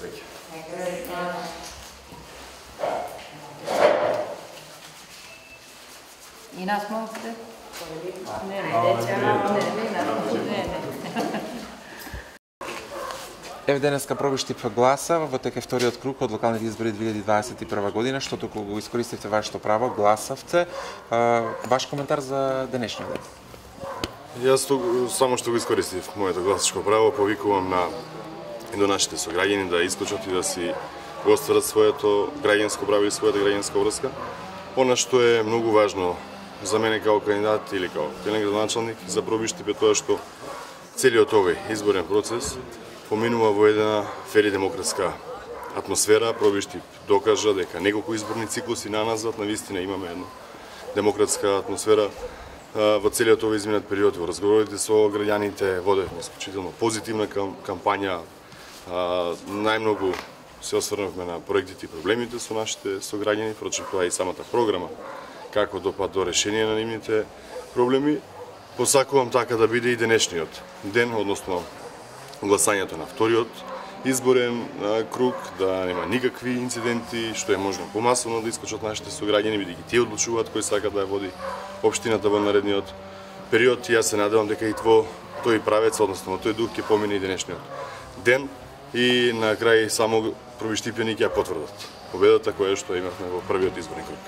среќа. И нас можете? Не. Еве денеска пробиштип гласа во тека вториот круг од локалните избори 2021 година, што току го искористивте вашето право, гласавте. Ваш коментар за денешниот ден? Јас само што го искористив моето гласачко право, повикувам и до нашите сограѓани да исклучат и да си го остварат своето граѓанско право и својата граѓанска врска. Она што е многу важно за мене како кандидат или како градоначалник за пробиштип е тоа што целиот овој изборен процес поминува во една фер и демократска атмосфера. Пробиштип докажа дека неколку изборни циклуси наназад навистина имаме една демократска атмосфера во целиот овој изминат период. Во разговорите со граѓаните водевме исклучително позитивна кампања. Најмногу се осврнавме на проектите и проблемите со нашите сограѓани, впрочем тоа и самата програма како допад до решение на нивните проблеми. Посакувам така да биде и денешниот ден, односно гласањето на вториот изборен круг, да нема никакви инциденти, што е можно помасовно да искочат нашите сограѓани, бидејќи тие одлучуваат кој сака да ја води општината во наредниот период. И јас се надевам дека и тој правец, односно во тој дух ќе помине и денешниот ден и на крај само пробиштипјани ќе ја потврдат победата која што имавме во првиот изборен круг.